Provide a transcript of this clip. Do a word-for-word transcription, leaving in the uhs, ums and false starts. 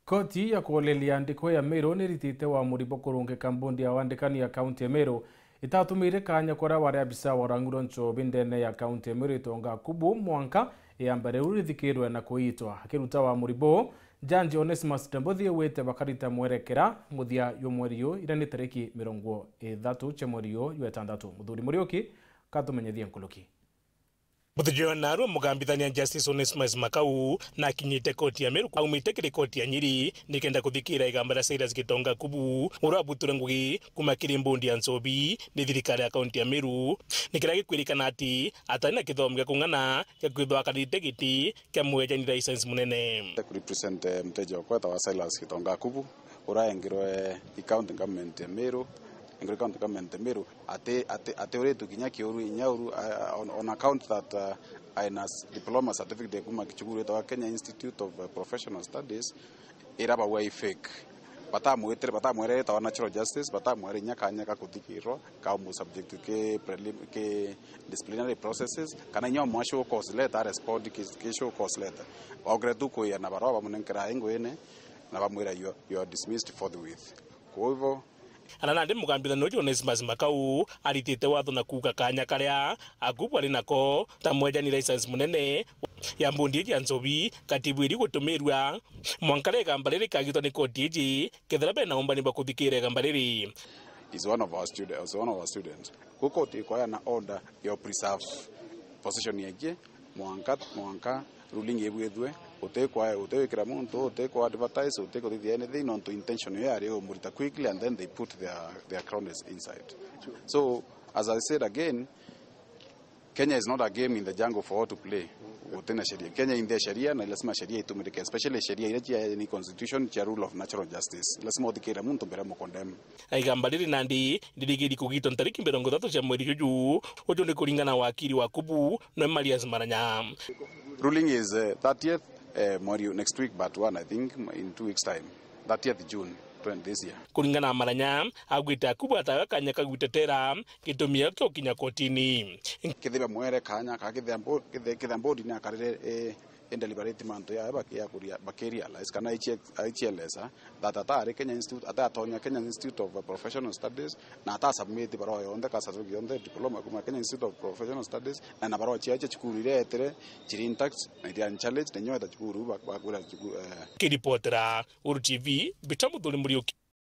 Koti ya kuoleria ndiko ya Meru niritite wamuri bwa kurungika mbondi ya wandikani ya kaunti ya Meru itatumire kanya kuria wari abisa wa urang'uru nchobi ndene ya kaunti ya Meru Itonga Akubu mwanka iamba riu rithikirwe na kuitwa. Akiruta wamuri buu, Jaji Onesmus Tembothi augite bakarita mwerekera muthia jwa mweri uyu, iria ni tariki mirongo ithatu cia mweri uyu jwa itantatu. Muthuri Muriuki katumenyithie nkuruki. Muthenya jwa narua mugambithania Justice Onesmus Makau na akinyite koti ya Meru aumite kiri koti ya Nyeri nikenda kuthikira igamba ria Silas Gitonga Kubu, uria abuture ngugi kuma kiri mbondi ya nchobi ni thirikari ya kaunti ya Meru, ni kiria gikwirikana ati atari na kithomo gia kung'ana gia kwithwa akarite giti kia mwejani license munene. Ku represent, eh, mteja wakwa wetagwa Silas Gitonga Kubu, uria aengirwe i county government ya Meru, aengirwe county government ya Meru, ati, ati, ati uritwe kinya kiuru, inya uru, uh, on, on account that, uh, aina s-, diploma certificate kuma kichukuru gitagwa Kenya Institute of, uh, Professional Studies, ira bauga i fake. Batamwitire, batamwere ritwa natural justice, batamwere inya kanya ka kuthikirwa, ka mu subject ki prelim-, ki disciplinary processes, kana inya omwa show cause letter, a respond ki, ki show cause letter. Baukire tu kuia na barua bamunenkera ingwine, na bamwira, "You are, you are dismissed forthwith." Kwa hivyo, Ana nandi mugambithania uju Onesmus Makau aritite watho na kuuga kanya karia Akubu ari nako ta mwejani license munene ya mbondi iji ya nchobi katibwiri gutumirwa mwanka ria igamba riri rikagitwa ni koti iji, kethira bena umbani bwa kuthikira igamba riri. Is one of our students, is one of our students. Ku koti ikwaya na order ya preserve position yake mwanka, mwanka ruling ibwithwe, utikwa, utiwikira muntu, utikwa advertise, utikuthithia anything, nontu intention yo yari umurita quickly and then they put their, their cronies inside. So, as I said again, Kenya is not a game in the jungle for all to play. Gutina sheria. Kenya in the sheria na lazima sheria itumirike, especially sheria iria cia ni constitution cia rule of natural justice. Lazima uthikire muntu mbere mukondem. Igamba riri nandi ndirigiri kugitwa ntariki mirongo ithatu cia mweri juju, uju ni kuringana na wakiri wa Kubu, no Marius Maranya. Ruling is, uh, thirtieth, uh, mweri next week, but one, I think, in two weeks time, thirtieth June twenty this year. Kuringana na Maranya, augite Akubu atawe kanya ka gwitetera gitumi kio kinya kotini. Kethira mwere kanya ka kethira mbo-, kethe-, kethira mbondi ni akarire, eh, in deliberate mantu yayo bakia kuria, bakirealize kana aichie-, aichieleza that atari Kenya Institute, atatonya Kenya Institute of Professional Studies, na atasubmit barua yonthe, ka certificate yonthe, diploma kuma Kenya Institute of Professional Studies, na, na barua cia, cia cukuru iria etire, chiri intact, na iria challenge, na inyo eta cukuru, ba-, bakwira cukuru, eh. Kiripotera Uru T V, Mbita Muthuri Muriuki.